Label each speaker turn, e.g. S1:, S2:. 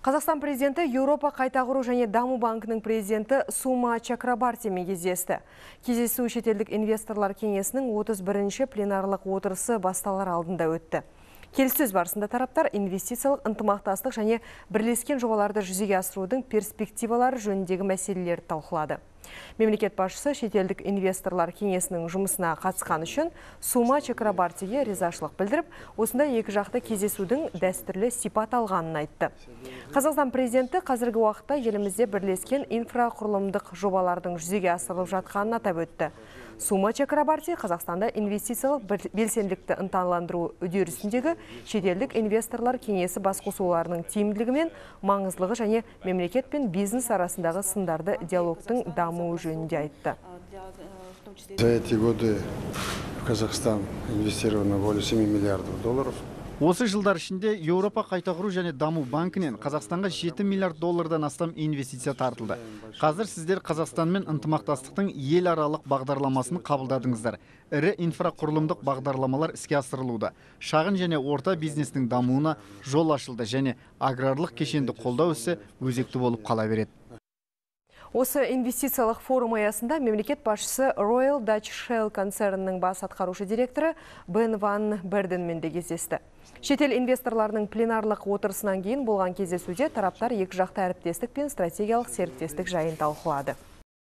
S1: Қазақстан президенті Еуропа қайта құру және даму банкінің президенті Сума Чакрабартимен кездесті. Кездесу шетелдік инвесторлар кеңесінің 31-ші пленарлық отырысы басталар алдында өтті. Келіссөз барысында тараптар инвестициялық ынтымақтастық және бірлескен жобаларды жүзеге асырудың перспективалары жөніндегі мәселелерді талқылады. Мемлекет басшысы шетелдік инвесторлар кеңесінің жұмысына қатысқан үшін Сума Чакрабартиге ризашылық білдіріп, осындай екі жақты кездесудің дәстүрлі сипат алғанын айтты. Қазақстан президенті қазіргі уақытта елімізде бірлескен инфрақұрылымдық жобалардың жүзеге асырылып жатқанын атап өтті. Сума Чакрабарти Қазақстанда инвестициялық белсенділікті ынталандыру үдерісіндегі шетелдік инвесторлар кеңесі басқосуларының тиімділігі мен маңыздылығы және мемлекет пен бизнес арасындағы сындарды диалогтың дамуы жөнінде айтты.
S2: За эти годы в Казахстан инвестировано более 7 миллиардов долларов.
S3: Осы жылдар ішінде Еуропа қайта құру және даму банкінен Қазақстанға 7 миллиард доллардан астам инвестиция тартылды. Қазір сіздер Қазақстанмен ынтымақтастықтың ел аралық бағдарламасын қабылдадыңыздар. Ірі инфрақұрылымдық бағдарламалар іске асырылуда. Шағын және орта бизнестің дамуына жол ашылды және аграрлық кешенді қолдау ісі өзекті болып қала береді.
S1: Осы инвестициялық форум аясында мемлекет басшысы Royal Dutch Shell концернінің бас атқарушы директоры Бен Ван Берденмен де кездесті. Шетел инвесторларының пленарлық отырысынан кейін болған кездесуде тараптар екі жақты әріптестік пен стратегиялық серіктестік жайын талқылады.